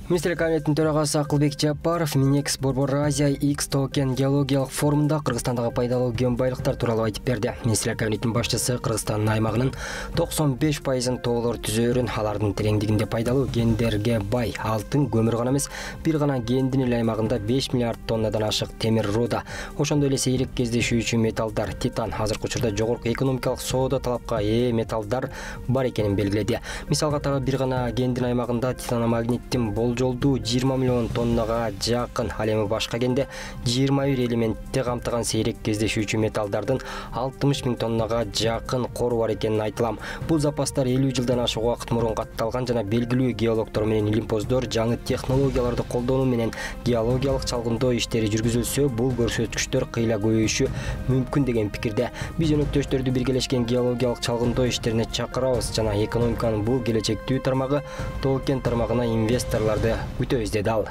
Министрлик кабинетинин төрагасы Акылбек Жапаров Минекс Борбор Азия X токен геологиялык форумунда Кыргызстандагы пайдалуу кен байлыктар тууралуу айтып берди. Министрлик кабинетинин башчысы Кыргызстандын аймагынын 95% тоолор түзөөрүн, алардын тереңдигинде пайдалуу кендерге бай алтын, көмүр гана эмес, бир гана кендин эле аймагында 5 миллиард тоннадан ашык темир руда, ошондой эле сейрек кездешүүчү металлдар, титан, азыркы учурда жогорку экономикалык соода талапка ээ металлдар бар экенин белгиледи. Мисалга тагы бир гана кендин аймагында титаномагниттин жолду 20 миллион тоннага жакын, ал эми башка кенде 21 элементти камтыган сейрек кездешүүчү металлдардын 60 миң тоннага жакын кору бар экенин айтылам. Бул запастар 50 жылдан ашык убакыт мурун катталган жана белгилүү геологдор менен илимпоздор жаңы технологияларды колдонуу менен геологиялык чалгындоо иштери жүргүзүлсө, бул көрсөткүчтөр кыйла көбөйүшү мүмкүн деген пикирде. Биз өнөктөштөрдү биргелешкен геологиялык чалгындоо иштерине чакырабыз жана экономиканын бул келечектүү тармагы токен тармагына инвесторлорду күтөбүз, деди ал.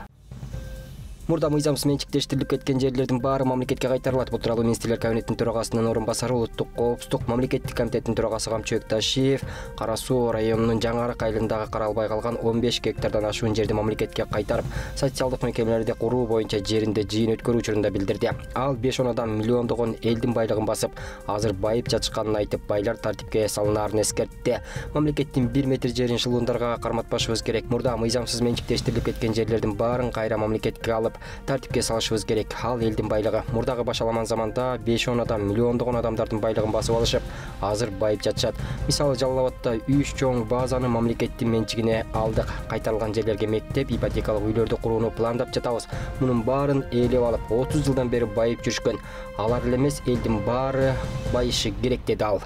Мурда мыйзамсыз менчиктештирилип кеткен жерлердин баары мамлекетке кайтарылат. Бул тууралуу Министрлер кабинетинин төрагасынын орун басары, Улуттук коопсуздук мамлекеттик комитетинин төрагасы Камчыбек Ташиев Кара Суу районунун Жаңы Арак айылындагы каралбай калган 15 гектардан ашуун жерди мамлекетке кайтарып, социалдык мекемелерди куруу боюнча жеринде жыйын өткөрүү учурунда билдирди. Ал 5-10 адам миллиондогон элдин байлыгын басып, азыр байып жатышканын айтып, байлар тартипке салынаарын эскертти. Мамлекеттин 1 метр жерин шылуундарга карматпашыбыз керек. Мурда мыйзамсыз менчиктештирилип кеткен жерлердин баарын кайра мамлекетке алып, тартипке салышыбыз керек. Ал элдин байлыгы. Мурдагы башаламан заманда 5-10 адам миллиондогон адамдардын байлыгын басып алышып, азыр байып жатышат. Мисалы Жалал Абадда 3 чоң базаны мамлекеттин менчигине алдык. Кайтарылган жерлерге мектеп, ипотекалык үйлөрдү курууну пландап жатабыз. Мунун баарын ээлеп алып, 30 жылдан бери байып жүрүшкөн. Алар эле эмес, элдин баары байышы керек, деди ал.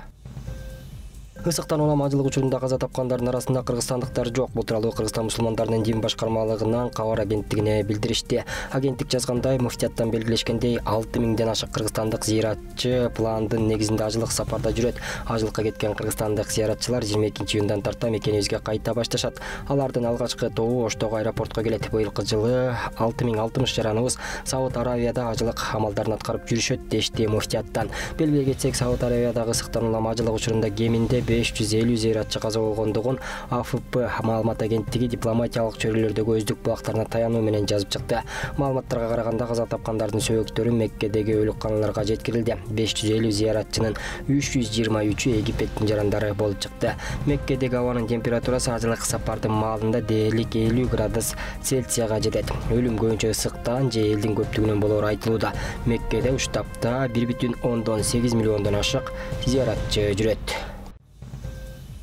Ысыктан улам ажылык учурунда каза тапкандардын арасында кыргызстандыктар жок. Бул тууралуу Кыргызстан мусулмандарынын дин башкармалыгынан кабар агенттигине билдиришти. Агенттик жазгандай, муфтияттан белгилешкендей 6 миңден ашык кыргызстандык зыяратчы пландын негизинде ажылык сапарда жүрөт. Ажылыкка кеткен кыргызстандык зыяратчылар 22-июндан тарта мекенибизге кайта башташат. Алардын алгачкы тобу Оштогу аэропортко келет. Быйылкы жылы 6060 жараныбыз Сауд Аравияда ажылык амалдарын аткарып жүрүшөт, дешти муфтияттан. Белгилей кетсек, Сауд Аравиядагы ысыктан улам ажылык учурунда кеминде 550 зыяратчы каза болгондугун АФП маалымат агенттиги дипломатиялык чөйрөлөрдөгү өздүк булактарына таянуу менен жазып чыкты. Маалыматтарга караганда каза тапкандардын сөөгүттөрү Меккедеги өлүкканаларга жеткирилди. 550 зыяратчынын 323-ü Египеттин жарандары болуп чыкты. Меккедеги абанын температурасы ажылык сапардын маалында дээрлик 50 градус Цельсияга жетет. Өлүм көбүнчө ысыктан же элдин көптүгүнөн болоору айтылууда. Меккеде уштапта 1,8 миллиондон ашык зыяратчы жүрөт.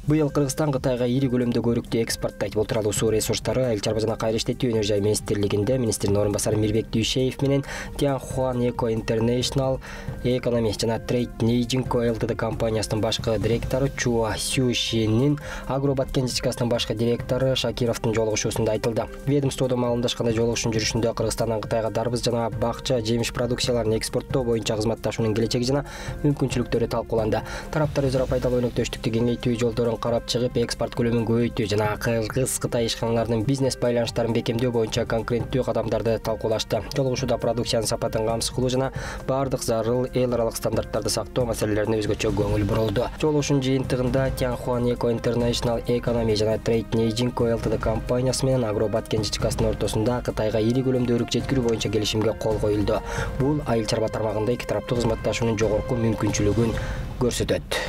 Быйыл Кыргызстан Кытайга ири көлөмдө өрүктү экспорттойт. Бул тууралуу суу ресурстары, айыл чарба жана кайра иштетүү өнөр жай министрлигинде министрдин орун басары Мирбек Дүйшеев менен Tianhuan Eco International Economy жана Trade Neijing Co Ltd компаниясынын башкы директору Чуа Сюшинин Агробат кенжичкасынын башкы директору Шакировдун жолугушуусунда айтылды. Ведомстводо маалымдашкандай, жолугушуун жүрүшүндө Кыргызстандан Кытайга дарбыз жана бакча жемиш продукцияларын экспорттоо боюнча кызматташуунун келечеги жана мүмкүнчүлүктөрү талкууланды. Тараптар өзара пайдалуу өнөктөштүктү кеңейтүү жолдорун карап чыгып, экспорт көлөмүн көбөйтүү жана Кыргыз-Кытай ишканаларынын бизнес байланыштарын бекемдөө боюнча конкреттүү кадамдарды талкуулашты. Жолугушууда продукциянын сапатын камсыз кылуу жана бардык зарыл эл аралык стандарттарды сактоо маселелерине өзгөчө көңүл бурулду. Жолугушуунун жыйынтыгында Tianhuan Eco International Economy жана Trade Neijing Co Ltd компаниясы менен Агробат кенжичкасынын ортосунда Кытайга ири көлөмдө өрүк жеткирүү боюнча келишимге кол коюлду. Бул айыл чарба тармагында эки тараптуу кызматташуунун жогорку мүмкүнчүлүгүн көрсөтөт.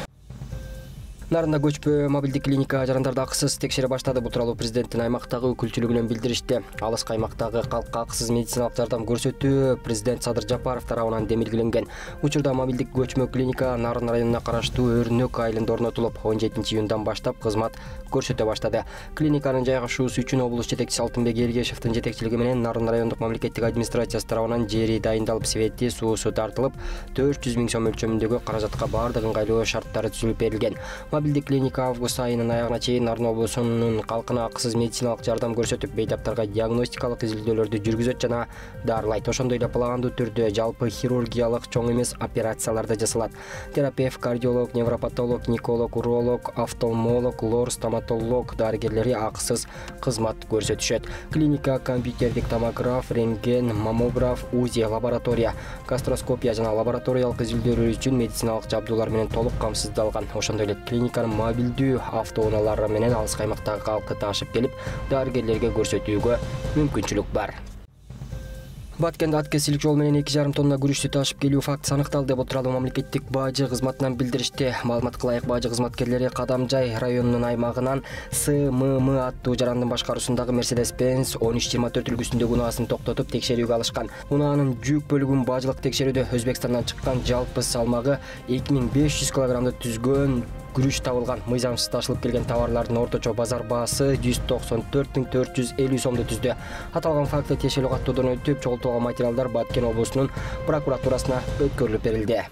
Нарында көчпө мобилдик клиника жарандарды акысыз текшере баштады. Бул тууралуу президенттин аймактагы өкүлчүлүгүнөн билдиришти. Алыскы аймактагы калкка акысыз медициналык жардам көрсөтүү президент Садыр Жапаров тарабынан демилгеленген. Учурда мобилдик көчмө клиника Нарын районуна караштуу Өрнөк айылында орнотулуп, 17-июндан баштап кызмат көрсөтө баштады. Клиниканын жайгашуусу үчүн облус жетекчиси Алтынбек Элгешевдин жетекчилиги менен Нарын райондук мамлекеттик администрациясы тарабынан жери дайындалып, свети, суусу тартылып, 400 миң сом өлчөмүндөгү каражатка бардык ыңгайлуу шарттары түзүлүп берилген. Мобилдик клиника август айынын аягына чейин Нарын облусунун калкына акысыз медициналык жардам көрсөтүп, бейтаптарга диагностикалык изилдөөлөрдү жүргүзөт жана дарылайт. Ошондой эле пландуу түрдө жалпы хирургиялык чоң эмес операциялар да жасалат. Терапевт, кардиолог, невропатолог, николог, уролог, офтальмолог, лор, стоматолог дарыгерлери акысыз кызмат көрсөтүшөт. Клиника компьютердик томограф, рентген, маммограф, УЗИ, лаборатория, гастроскопия жана лабораториялык изилдөөлөр үчүн медициналык жабдуулар менен толук камсыздалган. Ошондой эле клиника поликлиниканын мобилдүү автоунаалары менен алыс аймактагы калкты ташып келип, дарыгерлерге көрсөтүүгө мүмкүнчүлүк бар. Баткенде ат кесилик жол менен 2,5 тонна күрүчтү ташып келүү фактысы аныкталды деп отуралы мамлекеттик бажы кызматынан билдиришти. Маалыматка ылайык, бажы кызматкерлери Кадамжай районунун аймагынан СММ аттуу жарандын башкаруусундагы Mercedes-Benz 1324 үлгүсүндөгү унаасын токтотуп текшерүүгө алышкан. Унаанын жүк бөлүгүн бажылык текшерүүдө Өзбекстандан чыккан жалпы салмагы 2500 кг түзгөн күрүч табылган. Мыйзамсыз ташылып келген товарлардын орточо базар баасы 194.450 сомду түздү. Аталган факты тиешелүү каттоодон өтүп, чогултулган материалдар Баткен облусунун прокуратурасына өткөрүлүп берилди.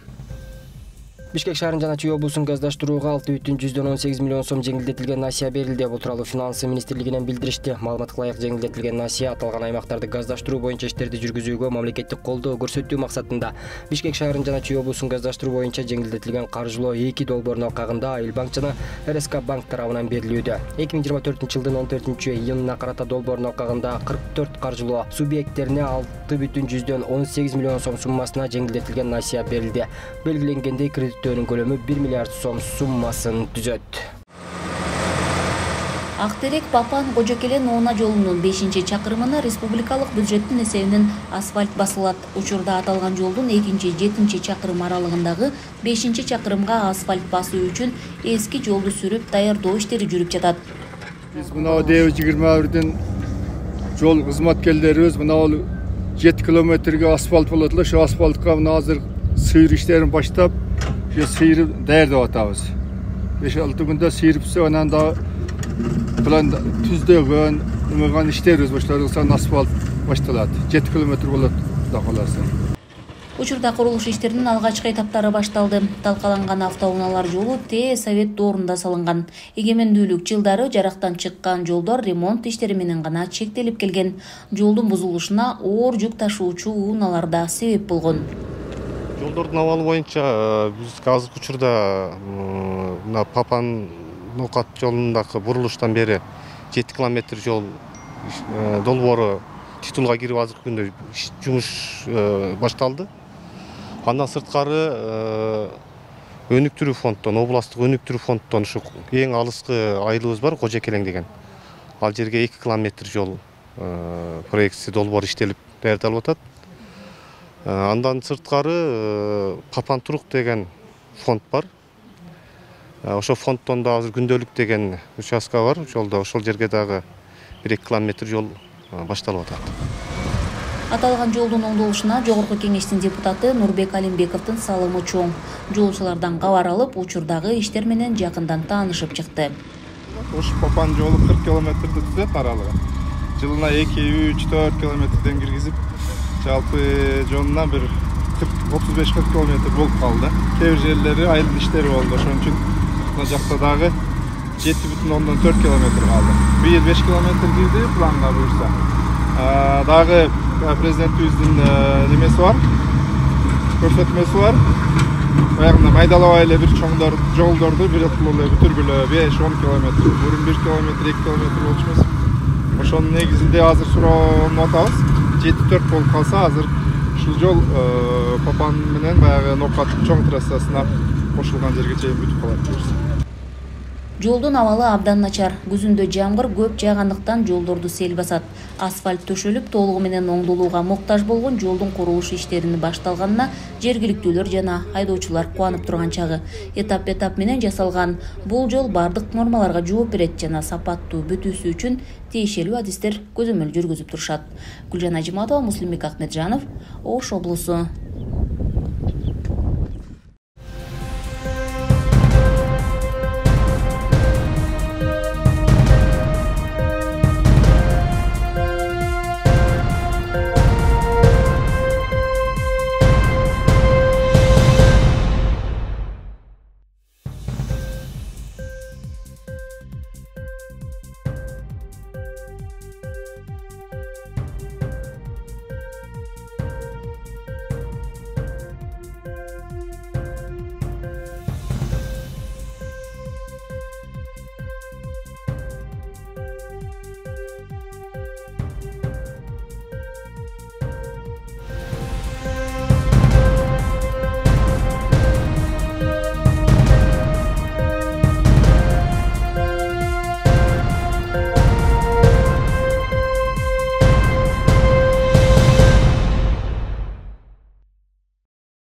Бишкек шаарынын жана Чүй облусун газдаштырууга 6,18 миллион сом жеңилдетилген насыя берилди деп отуралы Финансы министрлигинен билдиришти. Маалыматка ылайык, жеңилдетилген насыя аталган аймактарды газдаштыруу боюнча иштерди жүргүзүүгө мамлекеттик колдоо көрсөтүү максатында. Бишкек шаарынын жана Чүй облусун газдаштыруу боюнча жеңилдетилген каржылоо 2 долбоордун алкагында Айыл банк жана РСК банк тарабынан берилүүдө. 2024-жылдын 14-июнуна карата долбоордун алкагында 44 каржылоо субъекттерине 6,18 миллион сом суммасына жеңилдетилген насыя берилди. Белгиленгендей, кредиттөөнүн көлөмү 1 миллиард сом суммасын түзөт. Актерек Папан Кожокелен Оона жолунун 5-чакырымына республикалык бюджеттин эсебинен асфальт басылат. Учурда аталган жолдун 2-7 чакырым аралыгындагы 5-чакырымга асфальт басуу үчүн эски жолду сүрүп даярдоо иштери жүрүп жатат. Биз мына 21 жол кызматкерлерибиз мына 7 километрге асфальт болот эле. Ошо асфальтка мына азыр сыйыр иштерин баштап, сыйырып даярдап атабыз. 5-6 күндө сыйырыпсы, анан да план түздөгөн, немеган иштерибиз башталган, асфальт башталат. 7 километр болот да каласы. Учурда курулуш иштеринин алгачкы этаптары башталды. Талкаланган автоунаалар жолу Совет доорунда салынган. Эгемендүүлүк жылдары жарактан чыккан жолдор ремонт иштери менен гана чектелип келген. Жолдун бузулушуна оор жүк ташуучу унаалар да себеп болгон. Жолдордун абалы боюнча биз азыркы учурда мына Папан Нокат жолундагы бурулуштан бери 7 километр жол долбоору титулга кирип азыркы күндө жумуш башталды. Андан сырткары өнүктүрүү фонддон, областтык өнүктүрүү фонддон ушу эң алыскы айылыбыз бар, Кожокелең деген. Ал жерге 2 километр жол проектisi долбоор иштелип даярдалып атат. Андан сырткары Папан Турук деген фонд бар. Ошо фонддон да азыр күндөлүк деген участка бар жолдо. Ошол жерге дагы 1-2 километр жол башталып атат. Аталган жолдун оңдолушуна Жогорку кеңештин депутаты Нурбек Алимбековдун салымы чоң. Жолчулардан кабар алып, учурдагы иштер менен жакындан таанышып чыкты. Ушу Папан жолу 40 километрди түзөт аралыгы. Жылына 2-3-4 километрден киргизип, жалпы жолуна бир 35-40 километр болуп калды. Кээ бир жерлери айыл иштери болду. Ошон үчүн мына жакта дагы 7,4 километр калды. Быйыл 5 километр кирди планга буюрса. Дагы президентибиздин немеси бар, көрсөтмөсү бар. Баягында майдалабай эле бир чоңдор жолдорду бирөктүү эле бүтүргүлө 5-10 километр, бурун 1 километр, 2 километр болчу эмес. Ошонун негизинде азыр суроону атабыз. 7-4 болуп калса, азыр ушул жол Папан менен баягы Нокат чоң трассасына кошулган жерге чейин бүтүп калат. Жолдун абалы абдан начар. Күзүндө жамгыр көп жаагандыктан жолдорду сел басат. Асфальт төшөлүп, толугу менен оңдолууга муктаж болгон жолдун курулуш иштерини башталганына жергиликтүүлөр жана айдоочулар кубанып турган чагы. Этап менен жасалган бул жол бардык нормаларга жооп берет жана сапаттуу бүтүүсү үчүн тиешелүү адистер көзөмөл жүргүзүп турушат. Гүлжан Ажиматова, Муслимбек Ахмеджанов, Ош облусу.